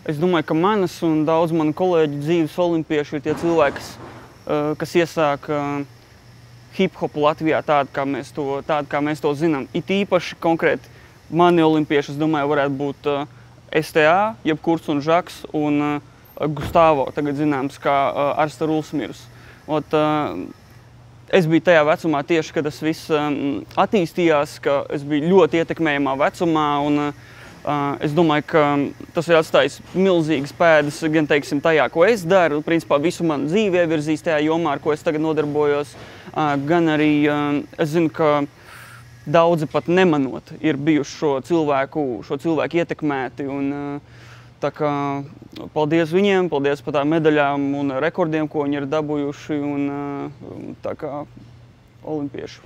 Es domāju, ka manas un daudz manu kolēģu dzīves olimpiešu ir tie cilvēki, kas iesāk hip-hopu Latvijā tādu, kā mēs to zinām. It īpaši konkrēti mani olimpieši, es domāju, varētu būt STA, jeb Kurts un Žaks un Gustavo, tagad zināms kā Arsta Rulsmirus. Es biju tajā vecumā tieši, kad tas viss attīstījās, ka es biju ļoti ietekmējamā vecumā un es domāju, ka tas ir atstājis milzīgas pēdas gan, teiksim, tajā, ko es daru, principā visu manu dzīvi ievirzīs tajā jomā, ar ko es tagad nodarbojos, gan arī es zinu, ka daudzi pat nemanot ir bijuši šo cilvēku ietekmēti un tā kā paldies viņiem, paldies par tām medaļām un rekordiem, ko viņi ir dabūjuši un tā kā olimpiešu.